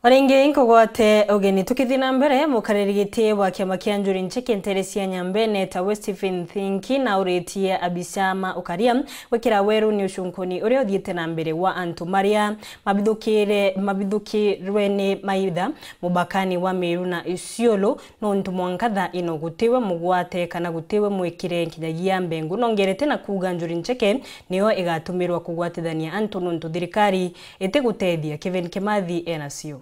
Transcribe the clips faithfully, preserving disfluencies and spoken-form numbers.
Ringi nkugwate ugeni. Tukithii na mbere, mukariri giti wa kiama kia Njuri Ncheke nteere cia Nyambene ta we Stephen Thinki nauritie abicama ukaria gwikira weruni ucunkuni uria uthiite na mbere wa antu maria mabithukire, mabithukirwe ni maitha mubakani wa Meru na Isiolo, nontu mwanka thaa ino gutiwe mugwate kana gutiwe mwikire nkinyagia mbengu. Nongerete na kuuga Njuri Ncheke niyo igatumirwa kugwatithania antu nontu thirikari itigutethia. Kevin Kimathi enacio.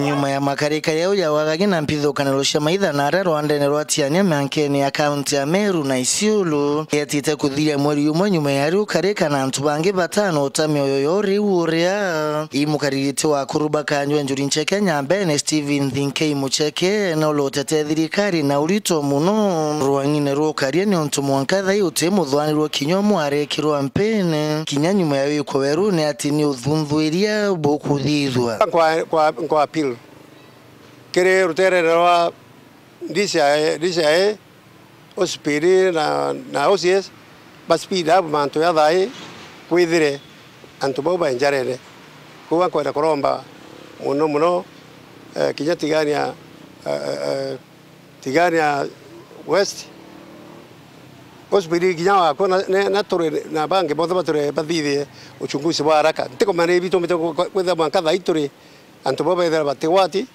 Nyuma ya makarika jau ja wagagi na mpithukaniro cia maitha na aria rwandene rwa Tiania miankene ya kaunti ya Meru na Isiolo, yetite kuthiria mweri umwe nyuma ya riu karika na antu bangi batano uta mioyo yo riu uria. Imukaririte wa kuruba kanjwa Njuri Ncheke Nyambene Stephen Thinkei Mucheke na ulotete thirikari na urito muno rwang'ine rwa ukaria, ni untu mwanka thai uti muthwanirwo kinya umwe arekirwa mpene kinya nyuma ya wikwa weruni ati ni uthunthuiria bukuthithua. Nkwa, nkwa, nkwa appeal kiri ruterere rwa D C I, D C I, O C P D na, na O C S ba speed up mantu ja thai kwithire antu bau ba njarene. Kwou nkwenda kuromba muno muno, eh, kinya Tigania, eh, eh, eh, Tigania West, O C P D kinya wakwa na, na, na turi na bangi bonthe baturi bathithie uchunguzi bwa haraka. Ntikumenya ni bitumite kwithira mwanka thai turi antu bau bethira batigwati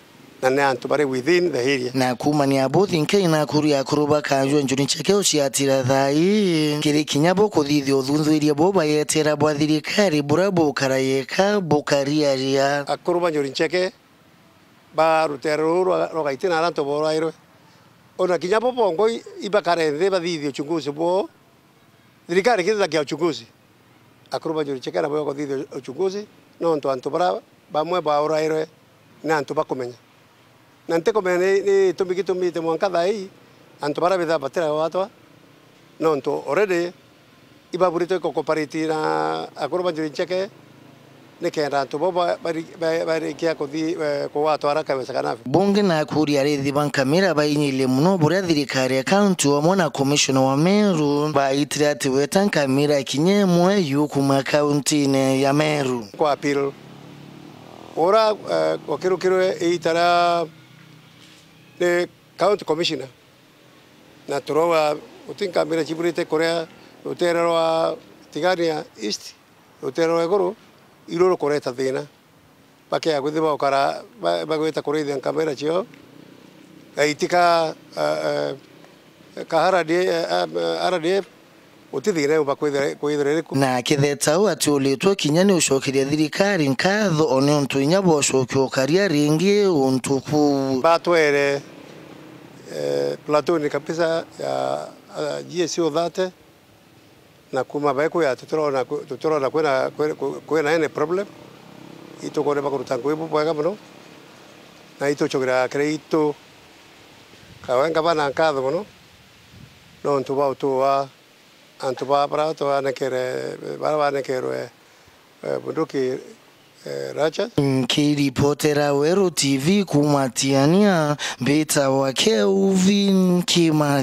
na ni antu bari within the area. Na kuumania bo Thinkei na akuri akuru bakajua Njuri Ncheke uciatira thai kiri kinya bo kuthithia uthunthuiria bo bayetera bwa thirikari buria bukara yeka bukariaria. Akuru ba Njuri Ncheke ba rutere ruru rwa, rwa Gaiti na aria antu borairwe, ona kinya bo bongwa i-, ibakare nthi bathithie uchunguzi bwoo. Thirikari ikithithagia uchunguzi, akuru ba Njuri Ncheke nabo bakuthithia uchunguzi, nontu antu baria bamwe baurairwe ni antu bakumenya. Na ntikumenya ni, ni gitumi gitumite mwanka thaa ii antu baria bithaa batiragwatwa, nontu already ibaburitwe iko cooperate na akuru ba Njuri Ncheke, nikenda antu bo ba-, bari-, ba-, barikia kuthi-, eh, kugwatwa haraka iwezekanavyo. Bungi na akuri arithi ba nkamira bainyirie muno buria thirikari ya kaunti amwe na komishona wa Meru baitire ati weta nkamira kinya imwe yu kuuma kauntine ya Meru. Kwa appeal, ura, eh, wakirukirwe iita ria ni county commissioner, na turauga guti nkamira ciburite kuria rutere rwa Tigania East, rutere rwa iguru, iru rukureta thina. Bakea kwithirwa baukara, ba-, bagwita kurithia nkamira ciao, gaitika, eh, eh, ka R D F, eh, eh, R D F, guti thina yumba kwithira, kwithira iriku. Na akitheta uu atiuritwe kinya ni ucokeria thirikari nkatho o niuntu inya bwocokia ukaria ringi untu kuu. Batwere, eh, platoon kabisa ya, eh, G S O thirty, na kuuma bae kuya tutirona ku-, tutirona kwina, kwi-, ku-, kwina any problem. Itukwona bakuruta ngugi bubwega mono, na itucokeria kiri itu kawenga bana nkatho mono, nontu bwa utuwa antu ba-, bara twanekere, bara banekerwe, eh, bunduki, eh, Rachel. Nkiripotera Weru T V kuuma Tiania, mbitagwa Kelvin Kimathi.